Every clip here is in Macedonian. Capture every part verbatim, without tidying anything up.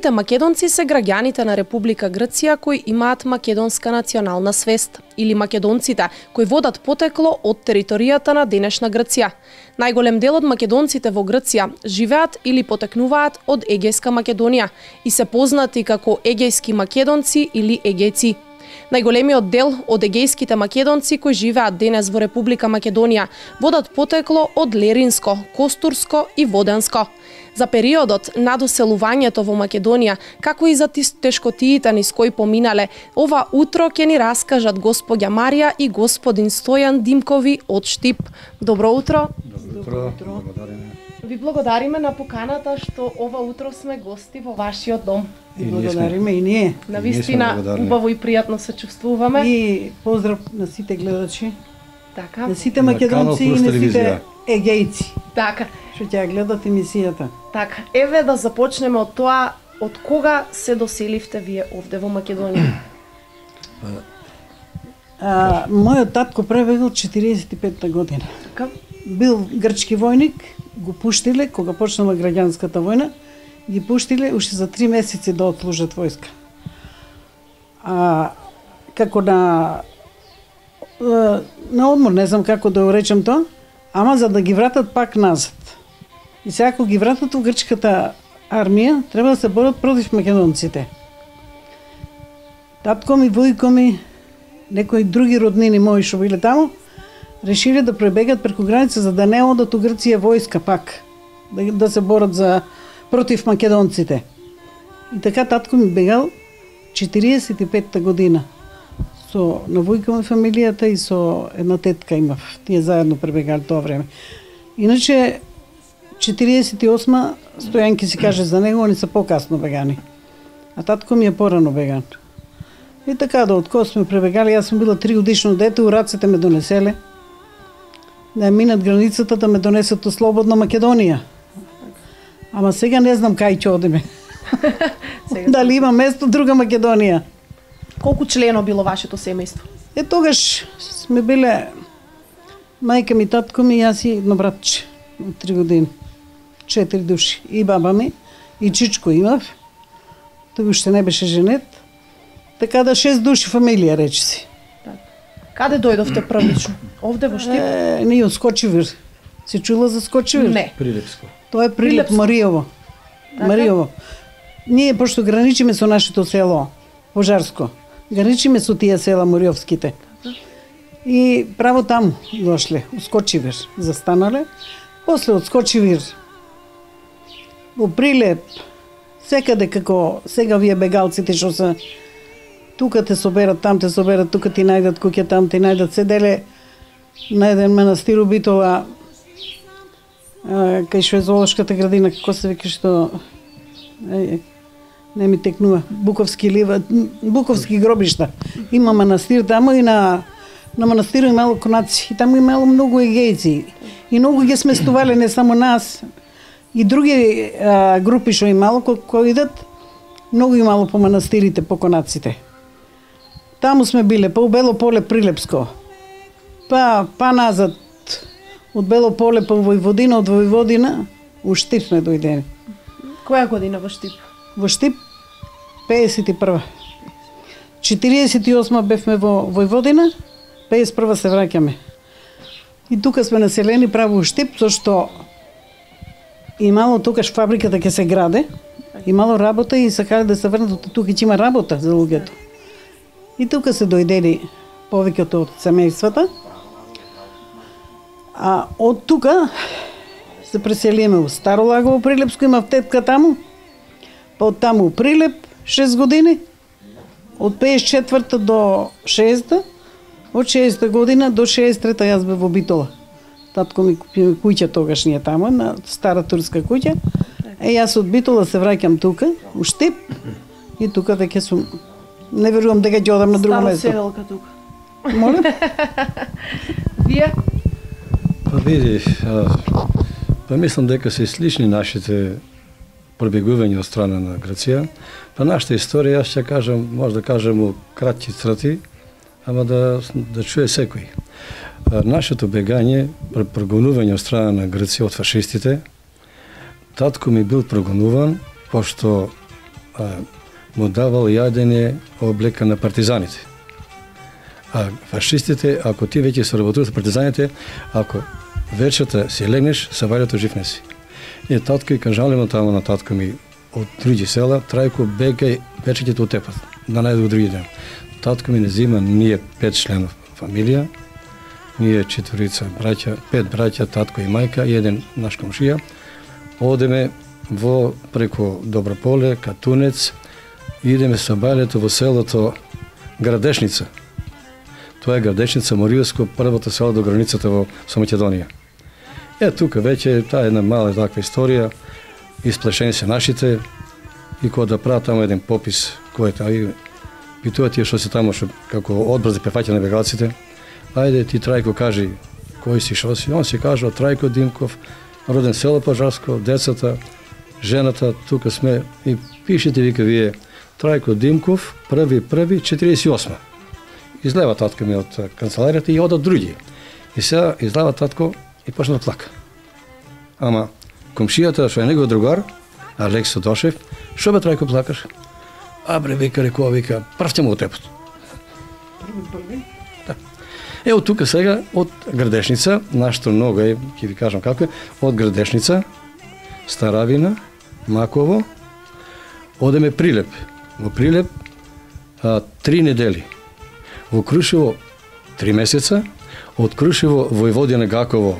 Етничките македонци се граѓаните на Република Грција кои имаат македонска национална свест, или македонците кои водат потекло од територијата на денешна Грција. Најголем дел од македонците во Грција живеат или потекнуваат од Егејска Македонија и се познати како егејски македонци или егејци. Најголемиот дел од егејските македонци кои живеат денес во Република Македонија водат потекло од Леринско, Костурско и Воденско. За периодот на доселувањето во Македонија, како и за тешкотиите низ кои поминале, ова утро ќе ни раскажат госпоѓа Марија и господин Стојан Димкови од Штип. Добро утро. Добро утро. Благодариме. Ви благодариме на поканата што ова утро сме гости во вашиот дом. И Благодариме и ние. Навистина убаво и пријатно се чувствуваме. И поздрав на сите гледачи, Така. на сите македонци и на сите егејци Така. што ќе гледат емисијата. Така. Еве да започнеме од тоа, од кога се доселивте вие овде во Македонија? А, мојот татко пребегал четириесет и петта година. Така. Бил грчки војник, го пуштиле кога почнала граѓанската војна, ги пуштиле уште за три месеци да отслужат војска. А како на на одмор, не знам како да го речем тоа, ама за да ги вратат пак назад. И сега ако ги вратат во грчката армија, треба да се борат против македонците. Татко ми, војко ми, некои други роднини мои што биле таму, решиле да пребегат преку граница за да не одат у Грција војска пак, да, да се борат за против македонците. И така татко ми бегал четириесет и петта година. Со на војка ми фамилијата и со една тетка имав. Тие заедно пребегали тоа време. Иначе четириесет и осма Стојанки си каже за него, они се покасно бегани. А татко ми е порано беган. И така да откој сме пребегали, јас сум била три годишно дете, у рацете ме донеселе. Да минат границата да ме донесат у слободна Македонија. Ама сега не знам кај ќе одиме. Дали има место друга Македонија? Колку члено било вашето семејство? Е тогаш сме биле мајка ми, татко ми, јас и едно братче од три години. Четири души. И баба ми, и чичко имав. Тој уште не беше женет. Така да шест души фамилија, речи си. Каде дојдовте првично? Овде во Штип? Е, ние од Скочивир. Се чула за Скочивир? Не. Прилепско. Тоа е Прилеп, Прилепско. Маријово. Така? Маријово. Ние, пошто граничиме со нашето село, Пожарско, граничиме со тие села Мориовските. И право таму дошле, у Скочивир, застанале. После од Скочивир, во Прилеп, секаде како сега вие бегалците што се тука те соберат, там те соберат, тука ти најдат куќа, там ти најдат, седеле на еден манастир у Битола, кај што е зоолошката градина, како се вика што е, не ми текнува, Буковски лива, Буковски гробишта. Има манастир таму и на на манастирот имало конаци, и таму имало многу егејци. И многу ги сместувале не само нас, и други а, групи што имало кои, кои идат, многу имало по манастирите, по конаците. Таму сме биле, по Бело поле Прилепско, па па назад од Бело поле по Војводина, од Војводина у Штип сме дојдени. Која година во Штип? Во Штип пеесет и прва. четириесет и осма бевме во Војводина, пеесет и прва се враќаме. И тука сме населени право у Штип, зашто имало тукаш фабриката ќе се граде, имало работа и сакале да се врнат, тука ќе има работа за луѓето. И тука се дојдели повеќето од семејствата. А од тука се преселиме у Старо Лагово, Прилепско, имав тетка таму. Па од таму у Прилеп шест години, од пеесет и четврта до шеесета, од шеесета година до шеесет и трета јас бев во Битола. Татко ми купи куќа тогашнија таму, на стара турска куќа. Е, јас од Битола се враќам тука, у Штип, и тука веќе сум, не верувам дека ќе одам на друго Старо место. седелка тука. Молим? Вие? Па види, а, па мислам дека се слични нашите пробегување од страна на Грција. Па нашата историја, јас ќе кажам, може да кажем у кратки црти, ама да, да чуе секој. А, нашето бегање, прогонување од страна на Грција од фашистите, татко ми бил прогонуван, пошто а, му давал јадење облека на партизаните. А фашистите, ако ти веќе се работуваш со партизаните, ако вечерта си легнеш, сабајлето жив не си. И татко и кажалено тамо на татко ми од други села, Трајко, бегај, вечерите од тепат, да најде други ден. Татко ми не зима, ние пет членов фамилија, ние четворица браќа, пет браќа, татко и мајка, и еден наш комшија. Одеме во преко Доброполе, Катунец, идеме со бајлето во селото Градешница. Тоа е Градешница, Моријовско, првото село до границата во со Македонија. Е, тука веќе таа една мала таква историја, исплашени се нашите, и кога да прават тамо еден попис, кој е тај, питува тие што се тамо, што како одбор за префаќање на бегалците, ајде ти Трајко кажи кој си, шо си, он си кажа Трајко Димков, роден село Пожарско, децата, жената, тука сме, и пишете вика вие Трајко Димков, први први четириесет и осма. Излева татко ми од канцеларијата и одат други. И сега излева татко и почна да плака. Ама комшијата, што е негов другар, Алексо Дошев, шо бе Трајко плакаш? А бре, вика, рекува, вика, прв ќе му го тепот. Први, први? Да. Е, од тука сега, од Градешница, нашто много е, ќе ви кажам како е, од Градешница, Старавина, Маково, одеме Прилеп. Во Прилеп а, три недели. Во Крушево три месеца, од Крушево Војводина Гаково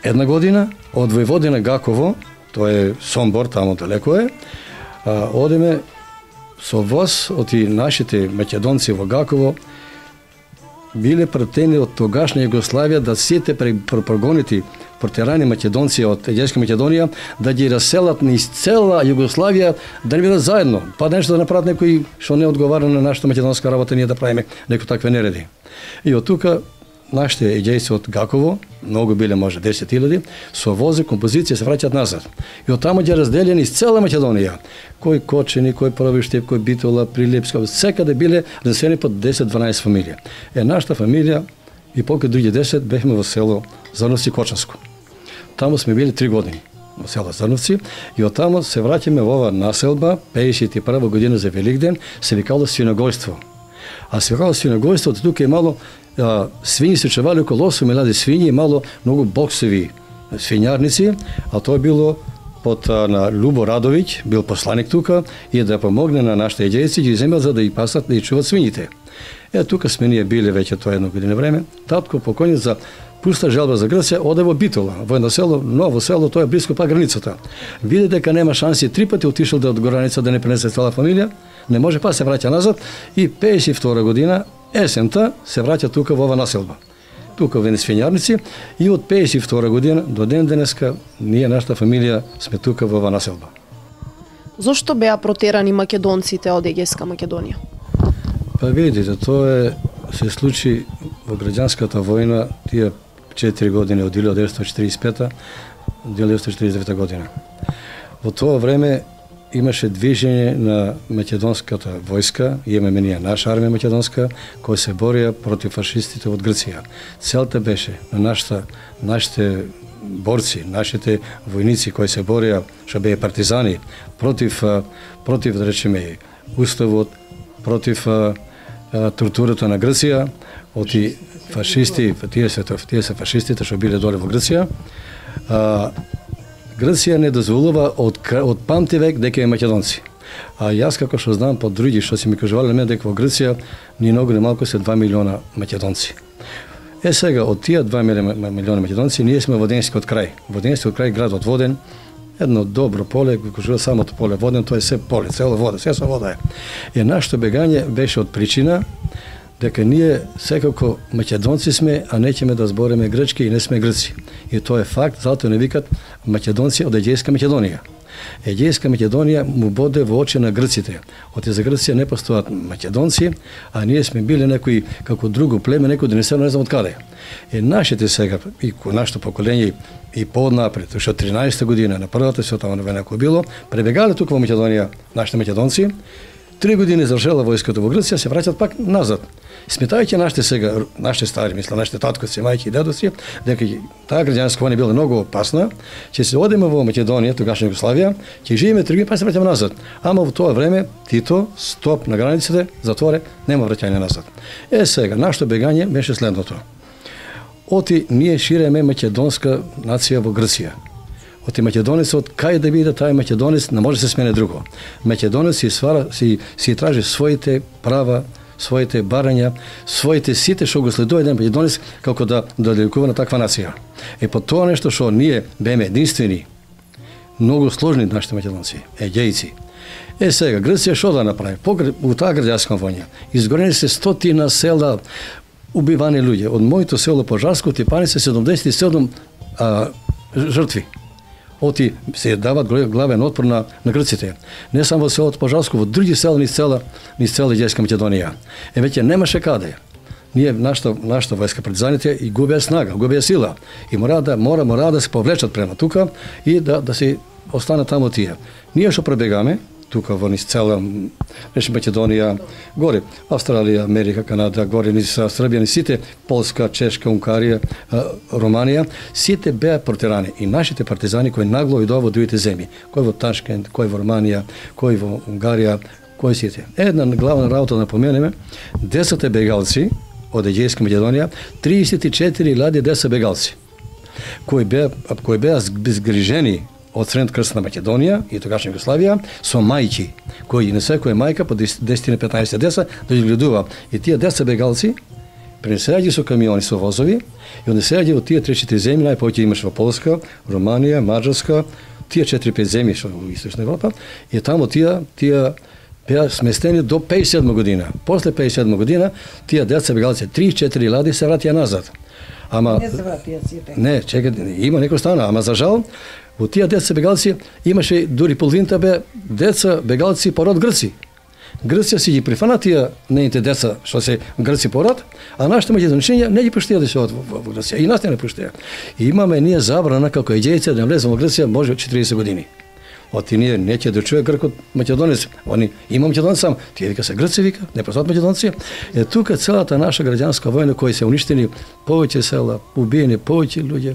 една година, од Војводина Гаково, тоа е Сомбор, тамо далеко е, а, одеме со воз од и нашите македонци во Гаково, биле пратени од тогашна Југославија да сите прогонети протерани македонци од Егејска Македонија да ги раселат низ цела Југославија, да не бидат заедно, па нешто да направат некој што не одговара на нашата македонска работа, ние да правиме некои такви нереди. И од тука нашите егејци од Гаково, многу биле може десет илјади, со вози, композиција се враќаат назад. И од таму ги разделени из цела Македонија. Кој Кочени, кој Провиштеп, кој Битола, Прилепска, секаде биле разселени по десет-дванаесет фамилија. Е, нашата фамилија и покрај други десет бевме во село Зрновци Кочанско. Таму сме били три години во село Зрновци и од таму се враќаме во ова населба, пеесет и прва година за Великден, се викало свиногојство. А се викало свиногојство, тука е мало а, свињи се чували околу осум илјади свињи и мало многу боксови свињарници, а тоа било под а, на Любо Радовиќ, бил посланик тука и да помогне на нашите егејци, ги земел за да и пасат да и чуват свињите. Е, тука сме ние биле веќе тоа едно година време. Татко покоњен за пуста желба за Грција, оде во Битола, во едно село, ново село, тоа е близко па границата. Види дека нема шанси, три пати отишол да од граница да не пренесе цела фамилија, не може, па се враќа назад и пеесет и втора година, есента, се враќа тука во ова населба. Тука во свињарници и од пеесет и втора година до ден денеска ние, нашата фамилија, сме тука во ова населба. Зошто беа протерани македонците од Егејска Македонија? Па видите, тоа е, се случи во граѓанската војна, тие четири години од илјада деветстотини четиридесет и пета до илјада деветстотини четиридесет и девета година. Во тоа време имаше движење на македонската војска, имаме ние наша армија македонска, која се борија против фашистите од Грција. Целта беше на нашата, нашите борци, нашите војници кои се борија, што беа партизани, против, против да речеме, уставот, против а, а, тортурата на Грција, од и фашисти, тие се, тие се фашистите што биле доле во Грција. А, Грција не дозволува од, од памти век дека е македонци. А јас како што знам по други што си ми кажувале на мене дека во Грција ни многу не малку се два милиона македонци. Е сега од тие два милиона македонци ние сме Воденскиот крај. Воденскиот крај, градот Воден, едно добро поле, кој кажува самото поле Воден, тоа е се поле, цело вода, се со вода е. И нашето бегање беше од причина дека ние секако македонци сме, а неќеме да збориме грчки и не сме грци. И тоа е факт, затоа не викат македонци од Егејска Македонија. Егејска Македонија му боде во очи на грците. Од за Грција не постојат македонци, а ние сме били некои како друго племе, некој донесено не знам од каде. Е нашите сега и нашето поколение и пооднапред, што тринаесета година на првата световна војна кој било, пребегале тука во Македонија нашите македонци, Три години завршила војската во Грција, се враќаат пак назад. Сметајќи нашите сега, нашите стари, мисла, нашите таткоци, мајки и дедоци, дека таа граѓанска војна била многу опасна, ќе се одиме во Македонија, тогашна Југославија, ќе живееме три години, па се враќаме назад. Ама во тоа време Тито стоп на границите, затворе, нема враќање назад. Е сега, нашето бегање беше следното. Оти ние ширеме македонска нација во Грција. Оти македонецот, кај да биде тај македонец, не може да се смене друго. Македонец си свара, си, си тражи своите права, своите барања, своите сите што го следува еден македонец како да доделикува на таква нација. И по тоа нешто што ние беме единствени, многу сложни нашите македонци, егејци. Е сега, Грција што да направи? Во таа граѓанска војна изгорени се стотина села, убивани луѓе. Од моето село Пожарско, Типани се седумдесет и седум а, жртви. Оти се дават главен отпор на, на грците. Не само во селото Пожарско, во други села низ цела, низ цела Егејска Македонија. Е веќе немаше каде. Ние нашата нашата војска партизаните и губеа снага, губеа сила и мора да мора мора да се повлечат према тука и да да се останат таму тие. Ние што пребегаме тука во низ цела рече Македонија, горе Австралија, Америка, Канада, горе низ Србија, низ сите Полска, Чешка, Унгарија, Романија, сите беа протерани и нашите партизани кои нагло идоа во другите земји, кои во Ташкент, кои во Романија, кои во Унгарија, кои сите. Една главна работа да напоменеме, десет бегалци од Егејска Македонија, триесет и четири лади деца бегалци, кои беа кои беа згрижени од Средна крстна Македонија и тогашна Југославија со мајки, кои на секоја мајка по десет на петнаесет деца да ги гледува. И тие деца бегалци пренесеаѓа со камиони, со возови и однесеаѓа во тие три-четири земји, најповеќе имаше во Полска, Романија, Маđарска, тие четири-пет земји што во Источна Европа, и таму тие тие беа сместени до пејдесет и седма година. После пејдесет и седма година тие деца бегалци три-четири лади се вратија назад. Ама не се вратија сите. Не, чекај, има некој стана, ама за жал во тие деца бегалци имаше дури половината бе деца бегалци по род Грци. Грција си ги прифана тие неите деца што се Грци по род, а нашите македончиња не ги пуштија да се одат во, во Грција. И нас не не пуштија. И имаме ние забрана како егејци да влеземе во Грција може четириесет години. Оти ние неќе да чуе гркот македонец. Они има македонец сам, тие вика се Грци, вика, не посат македонци. Е тука целата наша граѓанска војна кои се уништени повеќе села, убиени повеќе луѓе.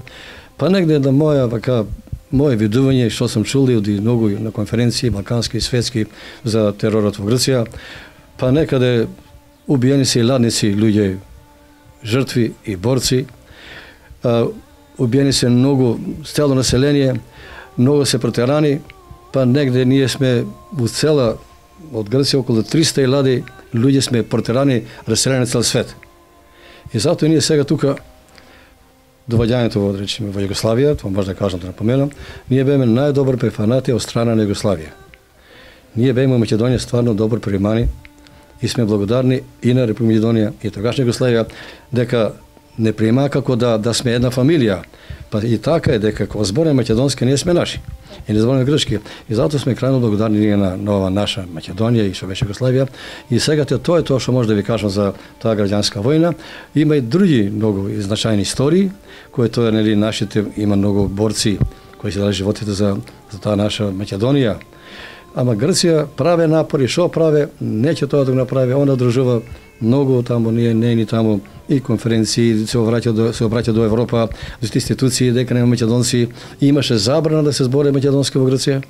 Па негде на моја вака моje видување што сум чул и многу на конференции балкански и светски за теророт во Грција, па некаде убиени се и ладници луѓе, жртви и борци. А, убиени се многу цело население, многу се протерани, па негде ние сме во цела од Грција околу триста лади луѓе сме протерани, раселени на цел свет. И затоа ние сега тука доваѓањето во, речеме, во Југославија, тоа може да кажам, да напоменам, ние беме најдобар прифанати од страна на Југославија. Ние беме во Македонија стварно добро примани и сме благодарни и на Република Македонија и тогашна Југославија дека не приема како да да сме една фамилија. Па и така е дека кога збореме македонски ние сме наши. И не збореме грчки. И затоа сме крајно благодарни ние на нова наша Македонија и што беше Југославија. И сега тоа е тоа што може да ви кажам за таа граѓанска војна. Има и други многу значајни истории, кои тоа нели нашите има многу борци кои се дали животите за за таа наша Македонија. Ама Грција праве напори, што праве, неќе тоа да го направи, она дружува многу таму, ние не ни таму и конференции, се обраќа до се обраќа до Европа, до институции дека нема македонци, имаше забрана да се збори македонски во Грција.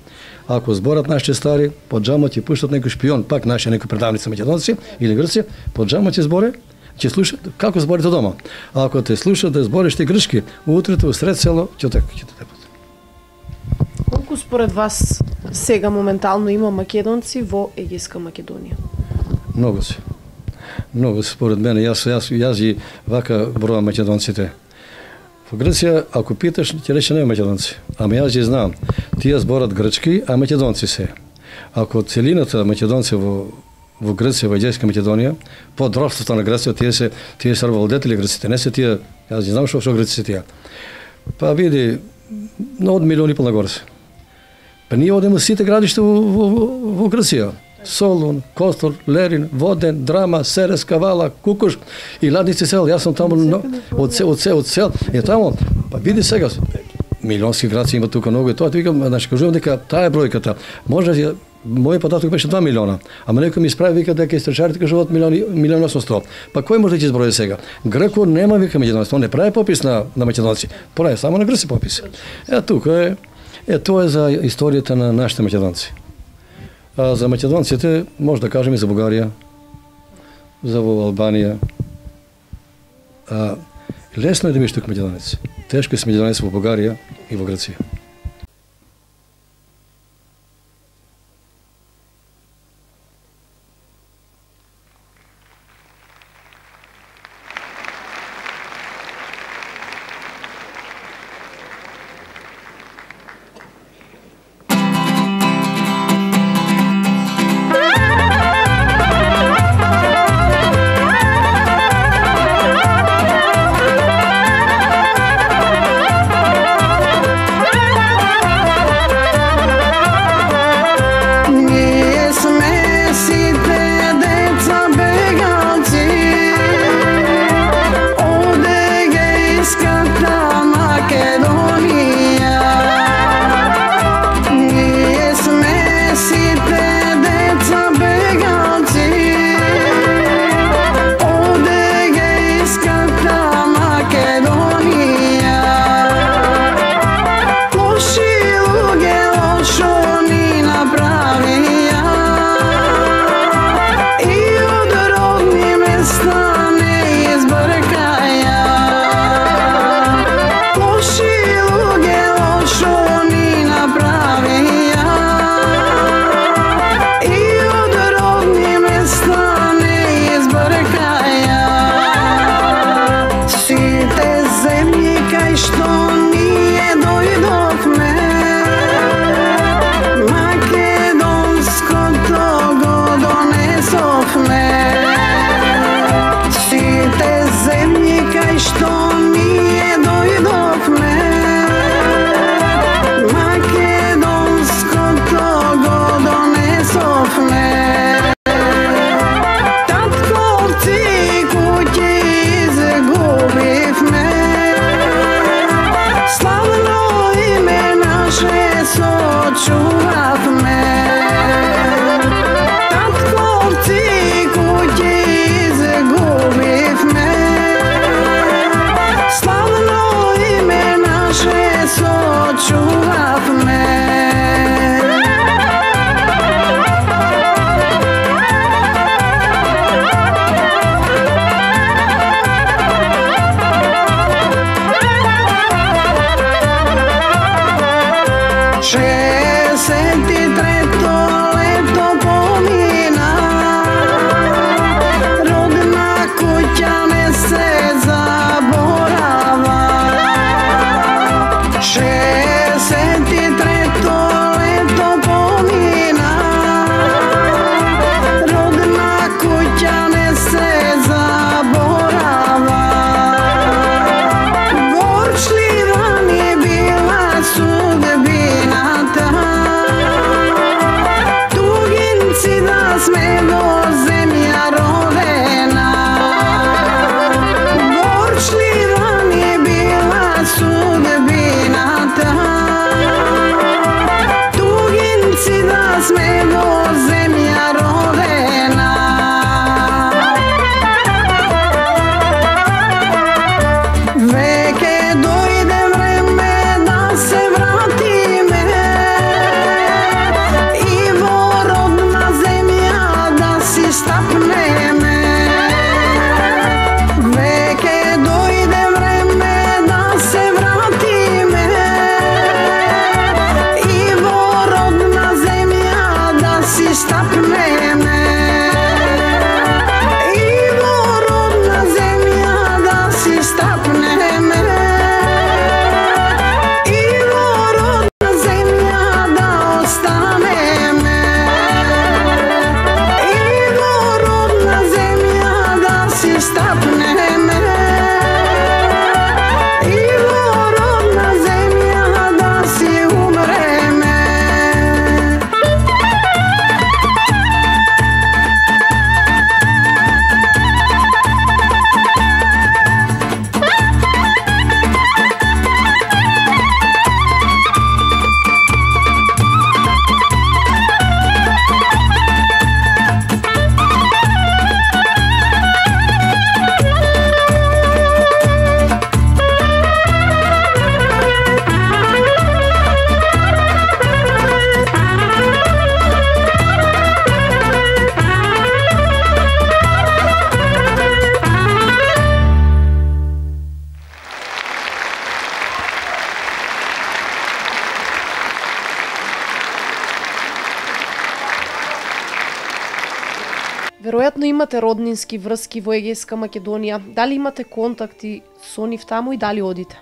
Ако зборат нашите стари, под џамот ќе пуштат некој шпион, пак наши некој предавници македонци или Грција, под џамот ќе зборе, ќе слушат како зборите дома. А ако те слушат да збориш ти грчки, утрето усред село ќе така ќе те. Колку според вас сега моментално има македонци во Егејска Македонија? Многу се. Многу според мене, јас јас јас ги вака бројам македонците. Во Грција, ако питаш, ќе рече нема македонци. Ама јас ги знам. Тие зборат грчки, а македонци се. Ако целината македонци во во Грција, во Егејска Македонија, под робството на Грција, тие се тие се владетели грците, не се тие, јас ги знам што што грци се тие. Па види, но од милиони пол нагоре се. Па ние одиме сите градишта во, во, во Грција. Солун, Костор, Лерин, Воден, Драма, Серес, Кавала, Кукуш и Ладници сел. Јас сум таму од од сел, од сел, од сел. Е таму, па види сега милионски градци има тука многу и тоа викам, значи кажувам дека таа е бројката. Може мој податок беше два милиона, ама некој ми исправи вика дека истрачарите кажуваат милиони милион осумстотини. Па кој може да ќе изброи сега? Грко нема вика македонци, он не прави попис на на македонци, прави само на грци попис. Е тука е е тоа е за историјата на нашите македонци. А за македонците може да кажеме и за Бугарија, за во Албанија. А, лесно е да бидеш тук македонец. Тешко е да си македонец во Бугарија и во Грција. Bye. Веројатно имате роднински врски во Егејска Македонија. Дали имате контакти со нив таму и дали одите?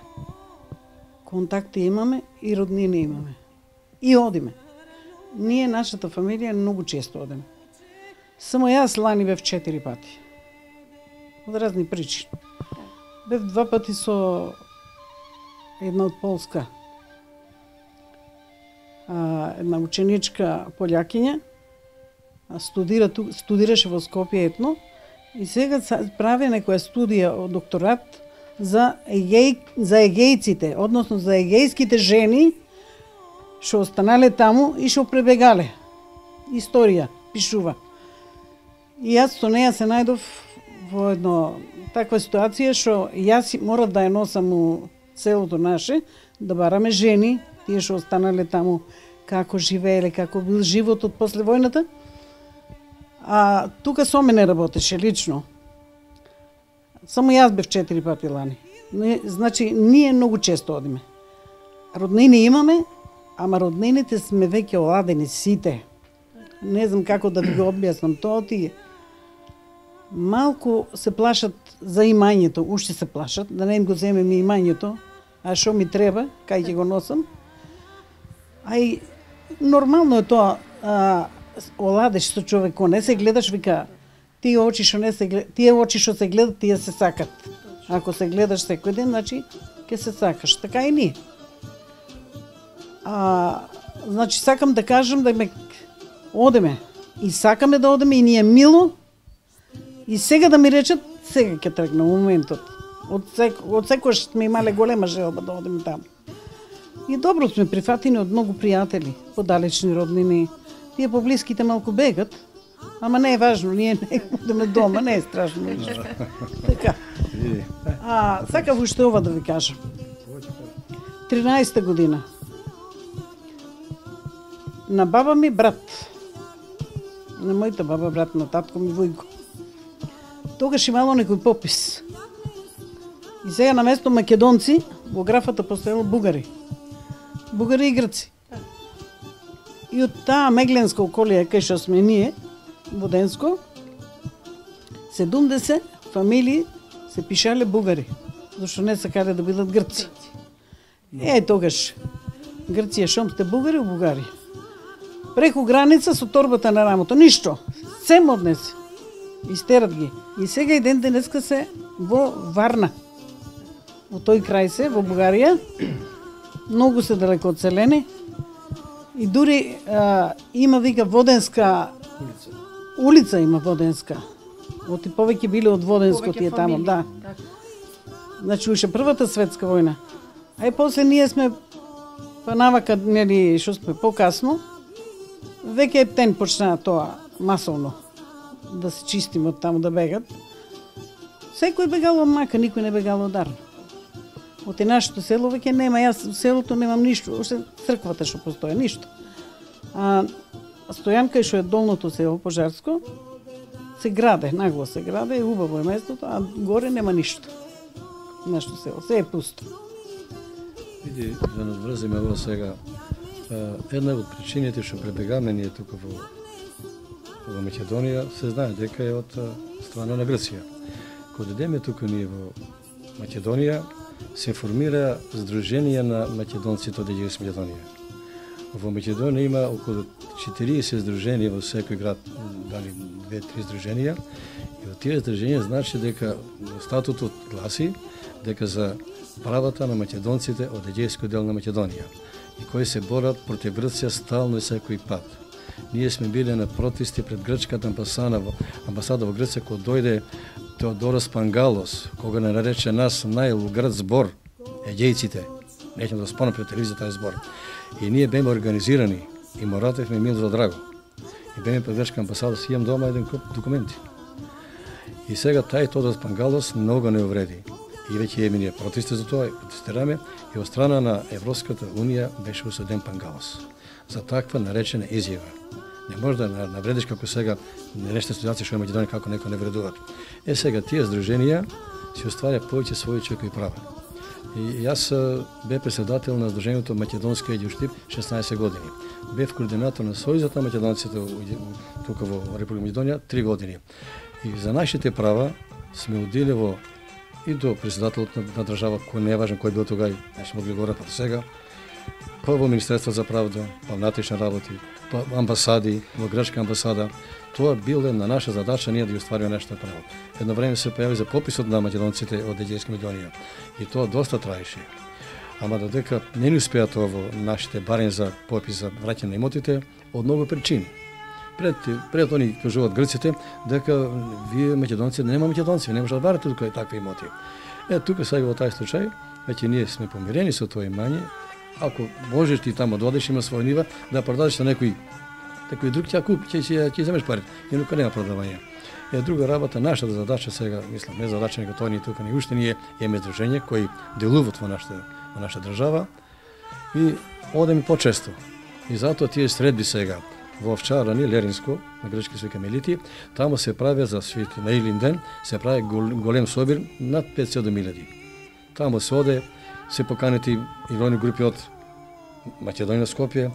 Контакти имаме и роднини имаме. И одиме. Ние, нашата фамилија, многу често одиме. Само јас лани бев четири пати. Од разни причини. Бев два пати со една од Полска. А, една ученичка полјакиња, студира, студираше во Скопје етно и сега прави некоја студија од докторат за егеј, за егејците, односно за егејските жени што останале таму и што пребегале. Историја пишува. И јас со неја се најдов во едно таква ситуација што јас морав да ја носам у селото наше, да бараме жени, тие што останале таму, како живееле, како бил животот после војната. А тука со мене работеше лично. Само јас бев четири пати лани. Значи, ние многу често одиме. Роднини имаме, ама роднините сме веќе оладени сите. Не знам како да ви го објаснам тоа, тие малку се плашат за имањето, уште се плашат, да не им го земеме имањето, а што ми треба, кај ќе го носам. А и нормално е тоа, а, оладеш со човек, кој не се гледаш, вика, тие очи што не се гледат, тие очи што се гледат, тие се сакат. Ако се гледаш секој ден, значи ќе се сакаш. Така и ние. А, значи сакам да кажам да ме одеме и сакаме да одеме и ние мило. И сега да ми речат, сега ќе тргна моментот. Од сек, од секојаш сме имале голема желба да одеме таму. И добро сме прифатени од многу пријатели, подалечни роднини. Тие поблиските малку бегат, ама не е важно, ние не одеме дома, не е страшно ништо. Така. А, сакав уште ова да ви кажам. тринаесета година. На баба ми брат, на мојата баба брат, на татко ми Војко. Тогаш имало некој попис. И сега на место македонци, во графата постоело бугари. Бугари и грци. И од таа мегленска околија кај што сме ние, Воденско, седумдесет фамилии се пишале бугари, зашто не сакале да бидат грци. Е, тогаш, Грција шом сте бугари у Бугарија. Преку граница со торбата на рамото, ништо. Сем однесе. Истерат ги. И сега и ден денеска се во Варна. Во тој крај се, во Бугарија. Многу се далеко одселени. И дури а, има, вика, Воденска улица. Улица има Воденска. Оти повеќе биле од Воденско тие таму, да. Значи, уште првата светска војна. А и после ние сме, па навака, нели, што сме покасно, веќе ептен почна тоа масовно да се чистим од таму, да бегат. Секој бегало мака, никој не бегало дарно. Од нашето село веќе нема, јас в селото немам ништо, уште црквата што постои, ништо. А Стојанка, што е долното село Пожарско, се граде, нагло се граде, убаво е местото, а горе нема ништо. Нашето село, се е пусто. Види, да надврзиме во сега, една од причините што пребегаме ние тука во, во Македонија, се знае дека е од страна на Грција. Кога дедеме тука ние во Македонија, се формира Сдружение на македонците од Егејска Македонија. Во Македонија има околу четириесет здруженија во секој град, дали две-три здруженија. И од тие здруженија значи дека статутот гласи дека за правата на македонците од Егејскиот дел на Македонија и кои се борат против Грција стално и секој пат. Ние сме биле на протести пред грчката амбасада во амбасада во Грција кога дојде Теодорос Пангалос, кога не нарече нас најлугрд збор егејците. Неќем да спомнам пред телевизија тај збор. И ние беме организирани и моратевме мил за драго. И беме пред грчка амбасада, си имам дома еден куп документи. И сега тај Теодорос Пангалос многу не увреди. И веќе е ние протести за тоа, протестираме, и од страна на Европската Унија беше осуден Пангалос за таква наречена изјава. Не може да навредиш како сега нешта ситуација што е Македонија како некој не вредуваат. Е сега тие здруженија си остварја повеќе своји човекови права. И јас бев председател на Сдруженијето Македонски едјуштип шеснаесет години. Бев координатор на Сојузот на македонците тука во Република Македонија три години. И за нашите права сме удели во и до председателот на, на држава, кој не е важен кој бил тогај, не сме могли говорат, па до сега, па во Министерство за правда, па внатрешни работи, па амбасади, во грчка амбасада. Тоа биле на наша задача ние да ги оствариме нашето право. Едно време се појави за пописот на македонците од Егејска Македонија и тоа доста траеше. Ама додека не ни успеа тоа во нашите барем за попис за враќање на имотите од многу причини. Пред пред они кажуваат грците дека вие македонци нема македонци, не може да барате тука такви имоти. Е тука сега во тај случај веќе ние сме помирени со тоа имање. Ако можеш ти тамо да одиш, има своја нива, да продадеш на некој некој друг ќе купи, ќе ќе ќе земеш парите. Инаку нема продавање. Е друга работа, нашата задача сега, мислам, не задача него тоа ни тука ни уште ние имаме здружение кои делуваат во нашата во нашата држава и одеме почесто. И затоа тие средби сега во Овчарани, Леринско, на грчки се вика Мелити, таму се прави за Свети на Илин ден, се прави голем собир над петстотини илјади. Таму се оде, се поканети и рони групи од Македонија, Скопје,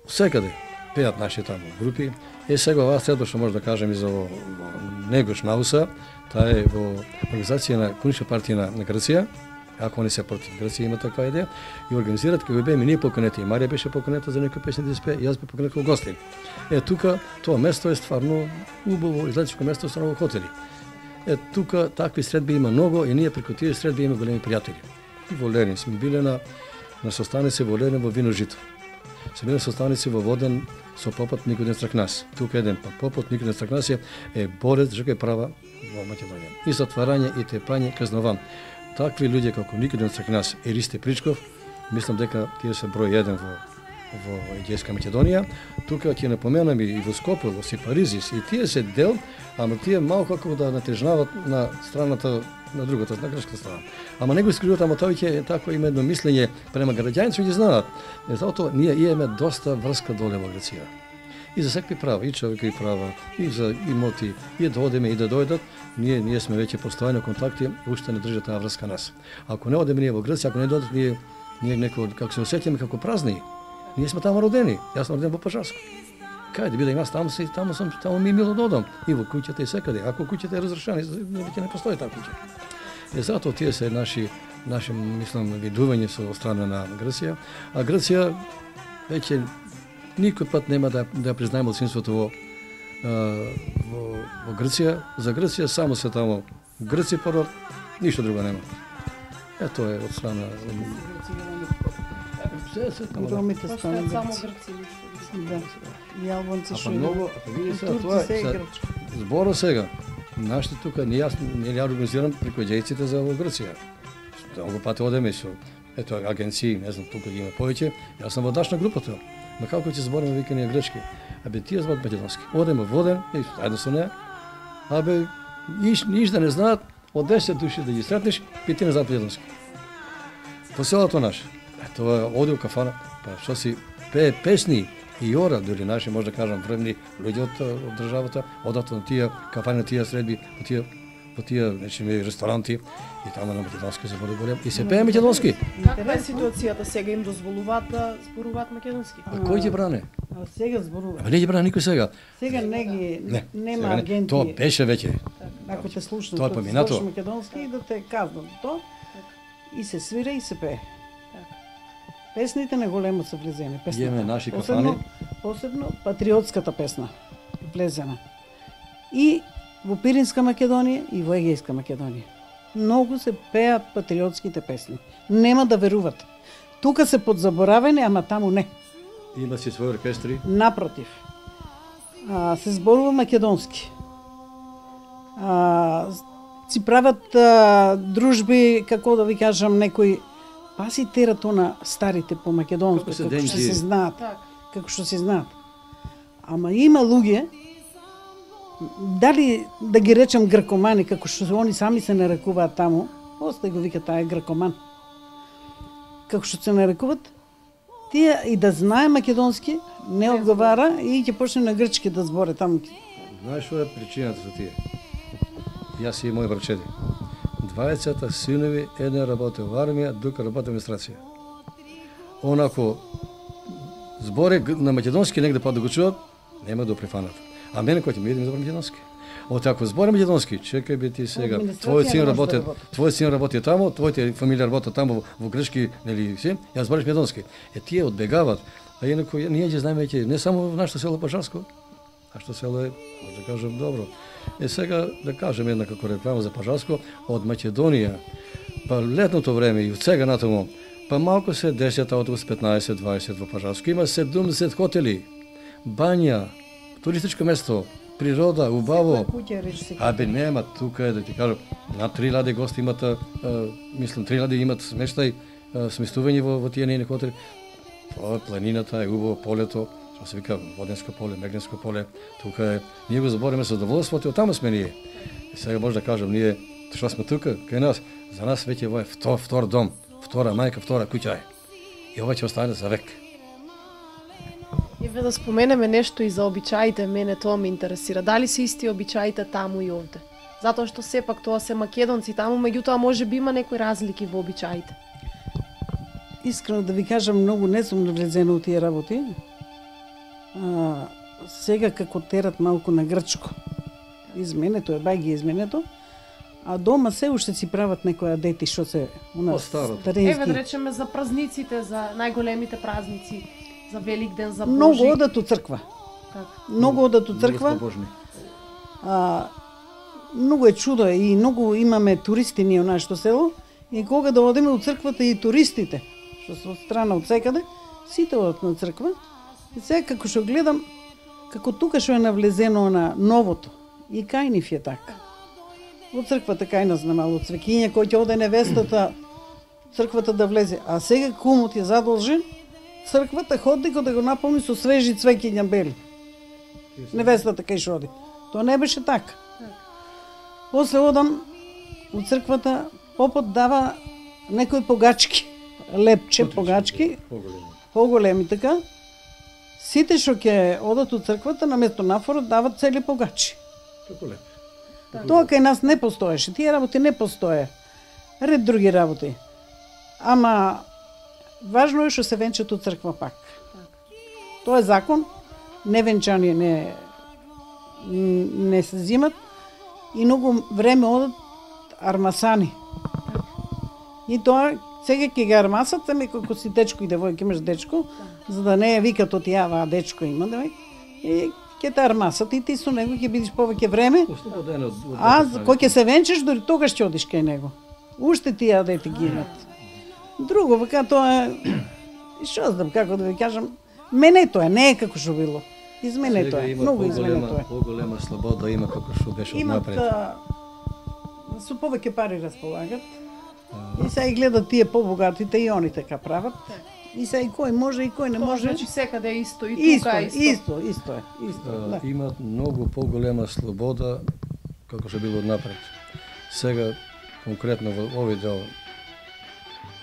секаде пеат наши таму групи. Е сега оваа средба што може да кажем и за во, во Негош Науса, таа е во организација на Комунистичка партија на, на Грција, ако они се против Грција има таква идеја, и организират како беме ние поканети, и Марија беше поканета за некои песни да спее, и јас бе поканет како гости. Е тука тоа место е стварно убаво, излетичко место со многу хотели. Е тука такви средби има многу и ние преку тие средби имаме големи пријатели. И во Ленин сме биле на на состаници во Ленин во Вино Жито. Се биле состаници во Воден со попот Никодим Стракнас. Тука еден па попот Никодим Стракнас е, е борец за човечки права во Македонија. И затварање и тепање казнован. Такви луѓе како Никодим Стракнас и Ристе Причков, мислам дека тие се број еден во во Егејска Македонија. Тука ќе напоменам и во Скопје, во Сипаризис, и тие се дел, ама тие малку како да натежнават на страната на другата, на грчката страна. Ама него искривуваат, ама тоа ќе тако има едно мислење према граѓаните ги знаат. Затоа ние имаме доста врска доле во Грција. И за секви права, и човекови права, и за имоти, и да одеме и да дојдат, ние ние сме веќе постојано контакти, уште не држат таа врска нас. Ако не одеме ние во Грција, ако не дојдат ние ние неко како се осеќаме како празни. Ние сме таму родени. Јас сум роден во Пажарско. Кај да бидам јас таму се таму сум таму ми е мило да одам и во куќата и секаде. Ако куќата е разрушена, веќе не постои таа куќа. И затоа тие се наши наши мислам видување со страна на Грција, а Грција веќе никој пат нема да да признаеме одсинството во во во Грција. За Грција само се таму Грци пород, ништо друго нема. Ето е од страна Ромите станат само грци. грци. Да. И албанци А што па многу, а па види сега тоа се е е сега, грчко. зборо сега. Нашите тука не јас не ја организирам преку егејците за во Грција. Многу пати одеме со ето агенции, не знам, тука ги има повеќе. Јас сум водаш на групата. Ма како ќе збориме викање грчки? Абе тие зборат македонски. Одеме во Воден, и заедно со неа. Абе ниш ниш да не знаат, од десет души да ги сретнеш, петина знаат македонски. По селото наше. Тоа оди у кафана, па што си пее песни и ора, дури наши, може да кажам, вредни луѓе од, од државата, одат на тие кафани, на тие средби, по тие по тие нечими ресторанти и таму на македонски се води голем и се пее македонски. Каква е ситуацијата сега, им дозволуваат да зборуваат македонски? А кој ги бране? А сега зборува. А не ги бране никој сега. Сега не ги Не, нема сега не. агенти. Тоа беше веќе. Ако те слушнат, Тоа е да поминато. слушаш македонски и да те казнат тоа. И се свира и се пее. Песните на големо се влезени. Песната. Имаме наши Посебно- кафани. Посебно патриотската песна влезена. И во Пиринска Македонија и во Егејска Македонија. Многу се пеат патриотските песни. Нема да веруват. Тука се подзаборавени, ама таму не. Има си своји оркестри. Напротив. А, се зборува македонски. А, си прават а, дружби, како да ви кажам, некои паси терат на старите по македонско, Како се како што денки. се знаат. Так. Како што се знаат. Ама има луѓе, дали да ги речем гракомани, како што они сами се нарекуваат таму, остај го вика таа е гракоман. Како што се нарекуваат, тие и да знае македонски, не одговара и ќе почне на грчки да зборе таму. Знаеш што е причината за тие? Јас и мои брачеди. дваесет синови, еден работи во армија, друг работи во администрација. Онако збори на македонски негде па да го чуат, нема да прифанат. А мене кој ќе ми идем за македонски. От ако збори македонски, чекај би ти сега, твојот син работи, твојот син работи таму, твоите фамилија работи таму во Грчки, нели си, ја збориш македонски. Е тие одбегават, а инако ние ќе знаеме ќе не само во нашето село Пажарско, а што село е, може да кажам добро. Е сега да кажем една како реклама за Пажарско, од Македонија, па летното време и од сега натаму, па малку се десет автобус, петнаесет дваесет во Пажарско, има седумдесет хотели, бања, туристичко место, природа, убаво. А бе нема, тука е да ти кажам, на три лади гости имат, а, мислам, три лади имат смештай, а, сместување во, во тие нейни хотели. Тоа е планината, е убаво полето, што се вика Воденско поле, Мегненско поле, тука е, ние го забориме со задоволството, од таму сме ние. И сега може да кажам, ние, што сме тука, кај нас, за нас веќе ова е втор, втор дом, втора мајка, втора куќа е. И ова ќе остане за век. Еве да споменеме нешто и за обичаите, мене тоа ме интересира. Дали се исти обичаите таму и овде? Затоа што сепак тоа се македонци таму, меѓутоа може би има некои разлики во обичаите. Искрено да ви кажам, многу не сум навлезена у тие работи. А, сега како терат малку на грчко. Изменето е, бај ги изменето. А дома се уште си прават некоја дети што се у нас старински. Еве да речеме за празниците, за најголемите празници, за Великден, за Божи. Многу одат у црква. Така. Многу одат у црква. А, многу е чудо и многу имаме туристи ние у нашето село и кога да одиме у црквата и туристите, што се од страна од секаде, сите одат на црква. И сега како што гледам, како тука што е навлезено на новото, и кај нив е така. Во црквата кај нас намало цвекиња, кој ќе оде невестата, црквата да влезе. А сега кумот е задолжен, црквата ходникот да го наполни со свежи цвекиња бели. Невестата кај што оди. Тоа не беше така. После одам у црквата, попот дава некои погачки, лепче погачки, поголеми така. Сите што ќе одат у црквата, наместо нафорот дават цели погачи. Како леп. Тоа кај нас не постоеше, тие работи не постоje. Ред други работи. Ама важно е што се венчат у црква пак. Тоа е закон, невенчани не не се зимат и многу време одат армасани. И тоа сега ќе ги армасат, ами како си дечко и девојка, имаш дечко, за да не е викат од јава, дечко има, девој, и ќе те армасат и ти со него ќе бидеш повеќе време. А кој ќе се венчаш, дори тогаш ќе одиш кај него. Уште тие дете ги имат. Друго, вака тоа е, што знам како да ви кажам, мене тоа не е како што било. Измене тоа, многу измене тоа. Поголема слобода има како што беше од напред. Имат со повеќе пари располагат. И сега и гледат тие побогатите и они така прават. И сега и кој може и кој не може. Значи секаде е исто и тука исто. Исто, исто е, исто. Да. Имат многу поголема слобода како што било напред. Сега конкретно во овој дел,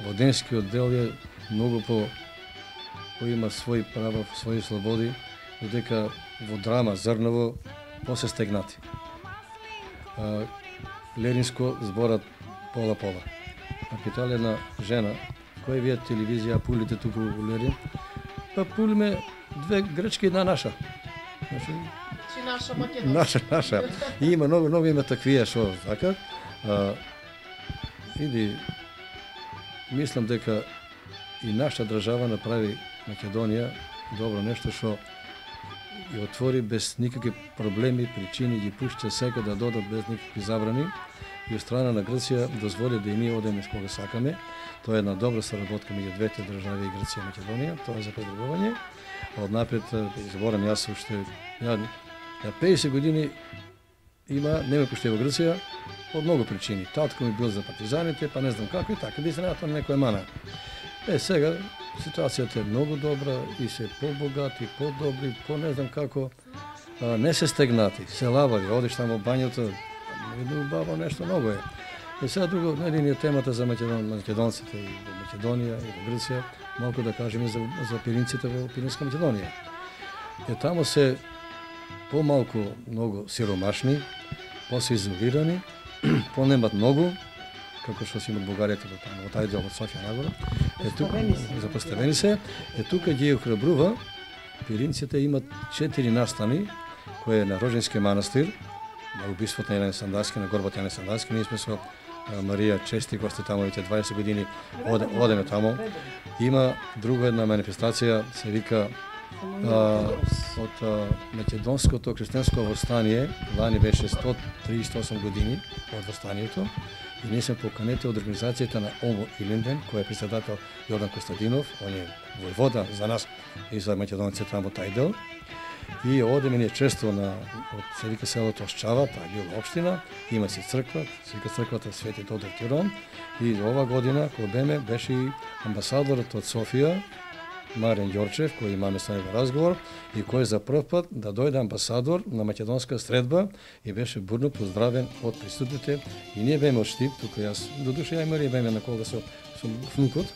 Воденскиот дел е многу по кој има своји права, своји слободи, додека во Драма, Зрново, после стегнати. А, Леринско зборат пола-пола. А питале една жена, кој вие телевизија пулите туку во Лерин? Па пулиме две грчки, една наша. Значи, Чи наша македонска. Наша, наша. И има нови, нови има таквија што така. А, иди, мислам дека и нашата држава направи Македонија добро нешто што ја отвори без никакви проблеми, причини, ги пушта секој да додат без никакви забрани и од страна на Грција дозволи да и ние одеме кога сакаме. Тоа е една добра соработка меѓу двете држави, Грција и Македонија, тоа е за предрбување. А однапред, изборам јас уште, ја, ја педесет години има, не ме пуште во Грција, од многу причини. Татко ми бил за партизаните, па не знам како и така, би се на некоја мана. Е, сега ситуацијата е многу добра и се побогати, подобри, по не знам како, а, не се стегнати, се лавари, одиш тамо бањата, едно убаво нешто многу е. И сега друго, не е темата за Македон, македонците и во Македонија и во Грција, малку да кажеме за, за пиринците во Пиринска Македонија. Е, тамо се помалку многу сиромашни, по-се изолирани, по-немат многу како што си имат Бугаријата во таму, во тај дел од Софија нагоре. Е тука запоставени се, е тука ги охрабрува. Пиринците имат четири настани, кои е на Роженски манастир, на убиството на Јане Сандаски, на горбата Јане Сандаски. Ние сме со Марија чести гости таму, веќе дваесет години оде, одеме таму. Има друга една манифестација, се вика а, од а, македонското христијанско восстание. Лани беше сто триесет и осум години од восстанието. И ние сме поканети од организацијата на Омо Илинден, кој е председател Јордан Костадинов, он е војвода за нас и за македонците таму тај дел. И одеме ние често на од се вика селото Осчава, таа била општина, има си црква, се вика црквата Свети Тодор Тирон. И ова година кога беме беше и амбасадорот од Софија, Марин Ѓорчев, кој имаме со него разговор и кој за прв пат да дојде амбасадор на македонска средба и беше бурно поздравен од присутните. И ние беме од Штип, тука јас, до душа ја и Марија беме на кола со, со внукот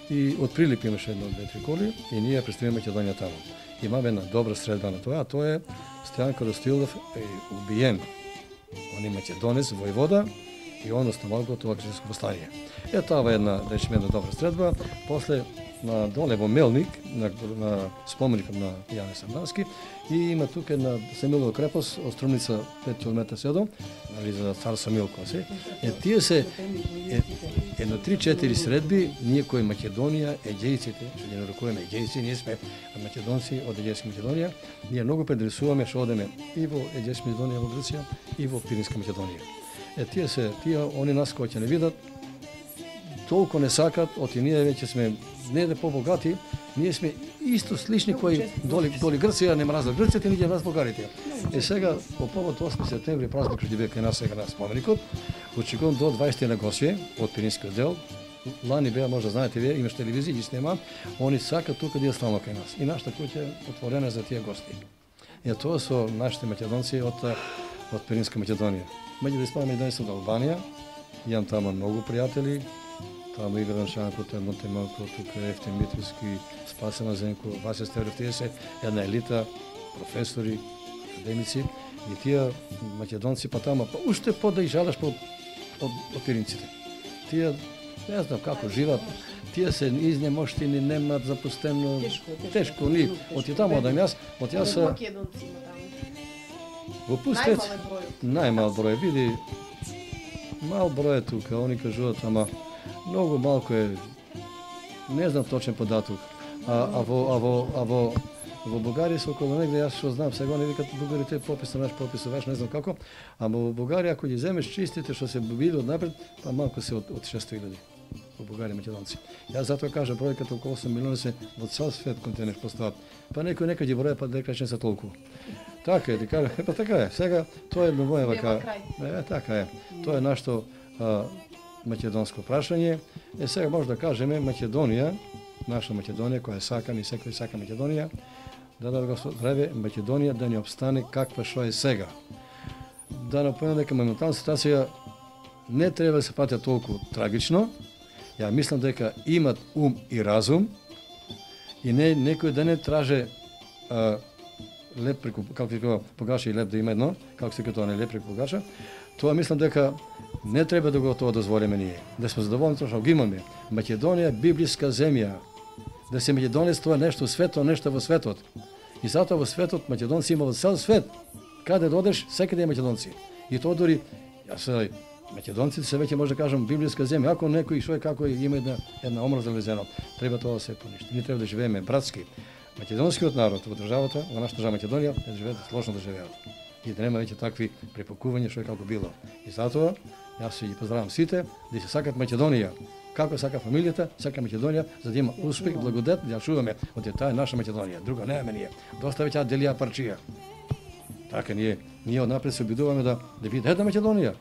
и од Прилип имаше едно, две, три коли и ние представиме Македонија таму. Имаме една добра средба на тоа, а тоа е Стојан Каростилов е убиен. Он е македонец, војвода и он останал го тоа крстинско восстание. Е, тоа е една, речеме, една добра средба. После на доле во Мелник, на, на споменикот на Јане Сандански, и има тука една Самилова крепост, од Струмница пет километри седом, нали, за цар Самил кој се. Е, тие се е, едно три-четири средби, ние кои Македонија, егејците, што ги нарекуваме егејци, ние сме македонци од Егејска Македонија, ние многу предрисуваме што одеме и во Егејска Македонија во Грција и во Пиринска Македонија. Е, тие се, тие, они нас кои ќе не видат, толку не сакат, оти ние веќе сме не да побогати, ние сме исто слични кои доли, доли Грција, не мразат Грците, ние мразат Бугарите. Е сега, по повод осми септември, празник што ќе биде кај нас сега на споменикот, очекувам до дваесет на гости од Пиринскиот дел. Лани беа, може да знаете вие, имаш телевизија, ги снима, они сакат тука да ја стално кај нас. И нашата куќа е отворена за тие гости. Е тоа со нашите македонци од од Пиринска Македонија. Меѓу да испадаме и од Албанија, имам таму многу пријатели. Таму Игран Шанкот, едно темалко, тука Ефтим Митровски, Спасена Зенко, Васе Стеров, тие се една елита, професори, академици, и тие македонци па таму, па уште по да и жалаш по од, од пиринците. Тие, не знам како живат, тие се изнемоштини, немат запустено, тешко, тешко, тешко ни, од и таму одам јас, од јас... Македонци има таму. Во пустец, најмал број, види, мал број е тука, они кажуваат, ама многу малку е, не знам точен податок, а, а, во, а, во, а во, во Бугарија се околу негде, јас што знам, сега не викат бугарите попис на наш попис, ваш не знам како, ама во Бугарија ако ги земеш чистите што се били однапред, па малку се од, од шестоста илјади во Бугарија македонци. Јас затоа кажам бројката околу осум милиони се во цел свет континент постават. Па некој некаде броја па дека не се толку. Така е, ти кажа, е па така е. Сега тоа е едно моја вака. Е, така е. Тоа е нашто а, македонско прашање. Е сега може да кажеме Македонија, наша Македонија која сакам и секој сака Македонија, да да го здраве Македонија да не обстане каква што е сега. Да напомнам дека моментална ситуација не треба да се пати толку трагично. Ја мислам дека имат ум и разум и не некој да не траже а, леп преку, како се кажа, погаша и леп да има едно, како се кажа, не леп преку погаша. Тоа мислам дека не треба да го тоа дозволиме ние. Да сме задоволни тоа што го имаме. Македонија библиска земја. Да се македонец тоа нешто свето, нешто во светот. И затоа во светот македонци има во цел свет. Каде додеш, секаде е македонци. И тоа дури јас македонците се веќе може да кажам библиска земја. Ако некој што е како има една една омраза влезено, треба тоа да се поништи. Ние треба да живееме братски. Македонскиот народ во државата, во нашата држава Македонија, да живеат сложно да живеат. И да нема веќе такви препакувања што е како било. И затоа јас ги поздравам сите да се сакат Македонија. Како сака фамилијата, сака Македонија, за да има успех, благодет, да ја чуваме од таа наша Македонија. Друга немаме ние. Доста веќе делија парчија. Така ние ние однапред се обидуваме да да биде една Македонија.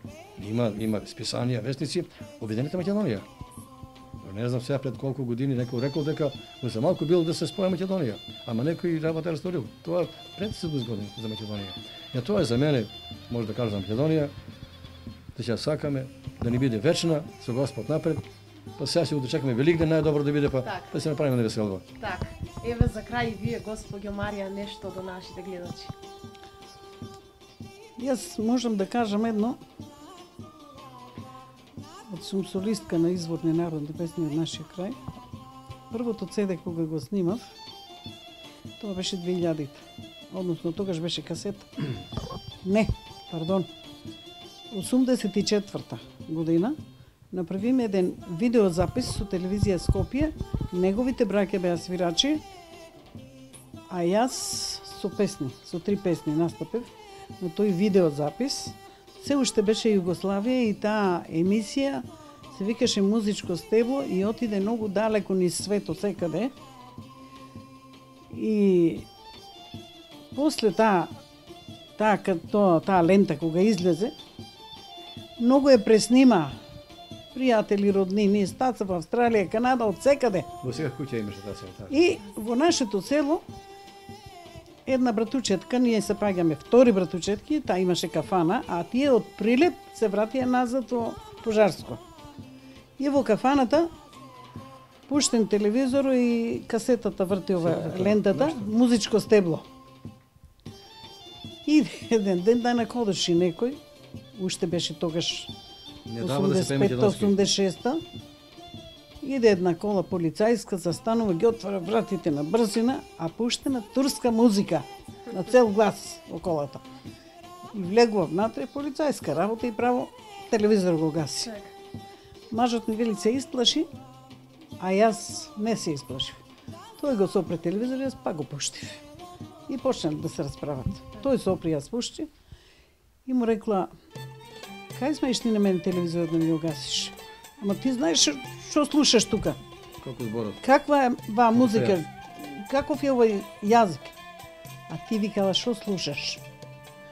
Има има списанија, вестници, Обединета Македонија. Не знам сега пред колку години некој рекол дека во за малку било да се споја Македонија, ама некој работа расторил. Тоа пред седумдесет години за Македонија. Ја тоа е за мене, може да кажам за Македонија, да ќе сакаме да ни биде вечна со Господ напред. Па сега ќе го чекаме Великден најдобро да биде, па так. Па се направиме на веселба. Така. Еве за крај вие, госпоѓо Марија, нешто до нашите гледачи. Јас можам да кажам едно. од сум солистка на изворни народни песни од нашиот крај. Првото цеде кога го снимав, тоа беше две илјадите. Односно, тогаш беше касета. Не, пардон. осумдесет и четврта година направиме еден видеозапис со телевизија Скопје. Неговите браќа беа свирачи, а јас со песни, со три песни настапив на тој видеозапис. Се уште беше Југославија и таа емисија се викаше Музичко стебло и отиде многу далеко низ светот секаде. И после таа таа таа, таа лента кога излезе, многу е преснима. Пријатели, роднини, стаца во Австралија, Канада, од секаде. Во сега куќа имаше таа село. И во нашето село една братучетка, ние се паѓаме втори братучетки, таа имаше кафана, а тие од Прилеп се вратија назад во Пожарско. И во кафаната пуштен телевизор и касетата врти ова лентата, Музичко стебло. И еден ден да накодеше некој, уште беше тогаш осумдесет и петта осумдесет и шеста, иде една кола полицајска, застанува, ги отвара вратите на брзина, а пуштена турска музика на цел глас во колата. И влегува внатре полицајска работа и право телевизор го гаси. Мажот ми вели се исплаши, а јас не се исплашив. Тој го сопре телевизор, јас пак го пуштив. И почнали да се расправат. Тој сопри, јас пушти и му рекла: кај смееш ти на мене телевизорот да ми го гасиш? Ама ти знаеш што слушаш тука? Како зборот? Каква е ва музика? Каков е овој јазик? А ти викала што слушаш?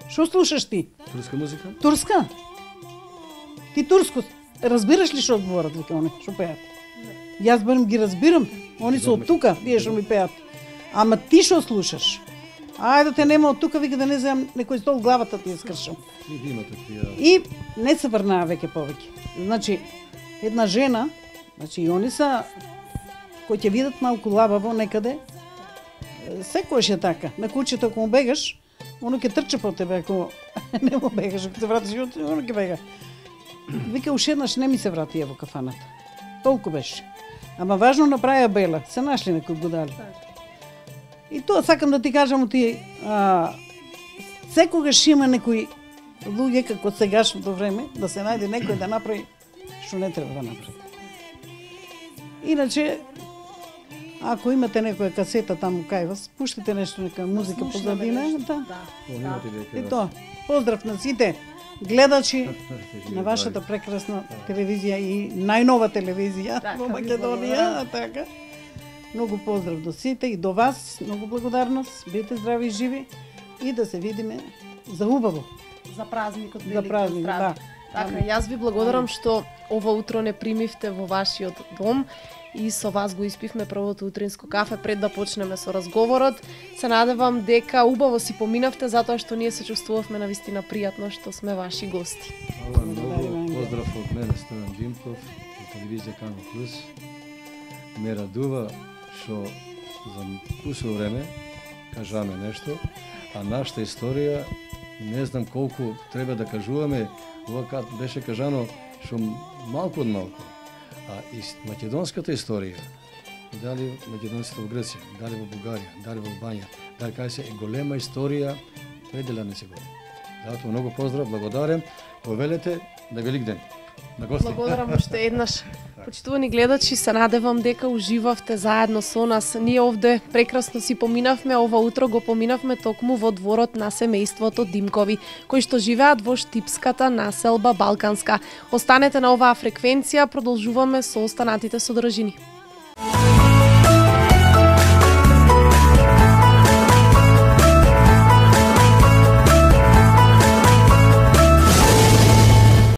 Што слушаш ти? Турска музика? Турска? Ти турско разбираш ли што зборат, вика они, што пеат? Јас барем ги разбирам, они се од тука, вие што ми пеат. Ама ти што слушаш? Ајде да те нема од тука, вика да не земам некој стол главата ти ја скршам. И не се врнаа веќе повеќе. Значи, една жена, значи и они са, кои ќе видат малку лабаво некаде, секојаш е така. На кучето ако му бегаш, оно ќе трча по тебе, ако не му бегаш, ако се вратиш, оно ќе бега. Вика, уште еднаш не ми се врати во кафаната. Толку беше. Ама важно направија бела, се нашли некои будали. И тоа сакам да ти кажам, ти, а, секогаш има некои луѓе како сегашното време, да се најде некој да направи што не треба да направи. Иначе, ако имате некоја касета таму кај вас, пуштите нешто, нека музика позадина. Да. Да. И тоа. Поздрав на сите гледачи на вашата прекрасна телевизија и најнова телевизија во Македонија, така. Многу поздрав до сите и до вас, многу благодарност, бидете здрави и живи и да се видиме за убаво. За празникот, за празник, да. Така, јас ви благодарам што ова утро не примивте во вашиот дом и со вас го испивме првото утринско кафе пред да почнеме со разговорот. Се надевам дека убаво си поминавте затоа што ние се чувствувавме навистина пријатно што сме ваши гости. Многу поздрав од мене, Стојан Димков, од телевизија Канал Плюс. Ме радува што за кусо време кажаме нешто, а нашата историја не знам колку треба да кажуваме, ова беше кажано што малку од малку. А и македонската историја, дали македонците во Грција, дали во Бугарија, дали во Албанија, дали кај се е голема историја, предела не се говори. Затоа многу поздрав, благодарам, повелете на Велик ден. На гости. Благодарам уште еднаш. Почитувани гледачи, се надевам дека уживавте заедно со нас. Ние овде прекрасно си поминавме, ова утро го поминавме токму во дворот на семејството Димкови, кои што живеат во штипската населба Балканска. Останете на оваа фреквенција, продолжуваме со останатите содржини.